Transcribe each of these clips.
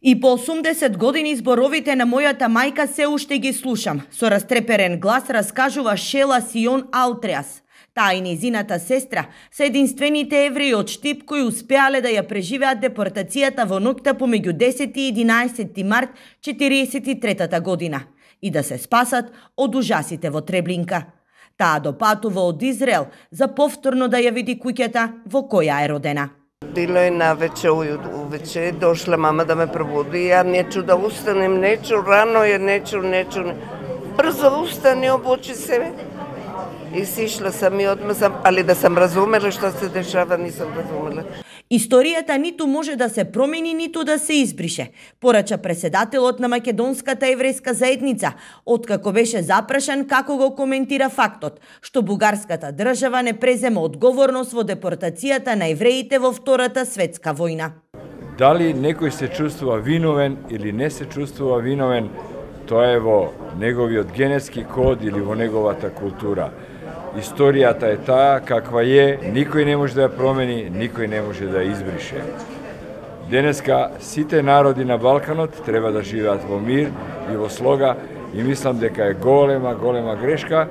И по 80 години зборовите на мојата мајка се уште ги слушам. Со растреперен глас раскажува Шела Сион Алтреас. Таа и незината сестра се единствените евреи од Штип кои успеале да ја преживеат депортацијата во ноќта помеѓу 10 и 11 март 1943 година и да се спасат од ужасите во Треблинка. Таа допатува од Израел за повторно да ја види куќата во која е родена. Било е навече, увече, дошла мама да ме пробуди, ја нечу да устанем, нечу, рано е, нечу. Брзо устани, обучи се. И сишла сам и одма сам, али да сам разумела што се дешава, нисам разумела. Историјата ниту може да се промени, ниту да се избрише, порача преседателот на Македонската еврејска заедница, откако беше запрашан како го коментира фактот што бугарската држава не презема одговорност во депортацијата на евреите во Втората светска војна. Дали некој се чувствува виновен или не се чувствува виновен, тоа е во неговиот генетски код или во неговата култура. Историјата е таа каква е, никој не може да ја промени, никој не може да ја избрише. Денеска сите народи на Балканот треба да живеат во мир и во слога и мислам дека е голема грешка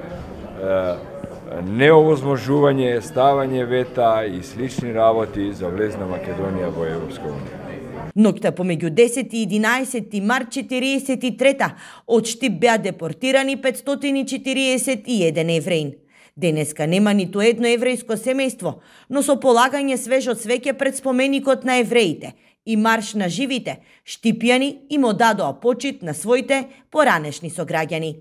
неовозможување, ставање вета и слични работи за влез на Македонија во Европска унија. Ноќта помеѓу 10 и 11 март 1943 од Штип беа депортирани 541 евреин. Денеска нема ниту едно еврејско семејство, но со полагање свежо цвеќе пред споменикот на евреите и марш на живите, штипјани им одадоа почит на своите поранешни сограѓани.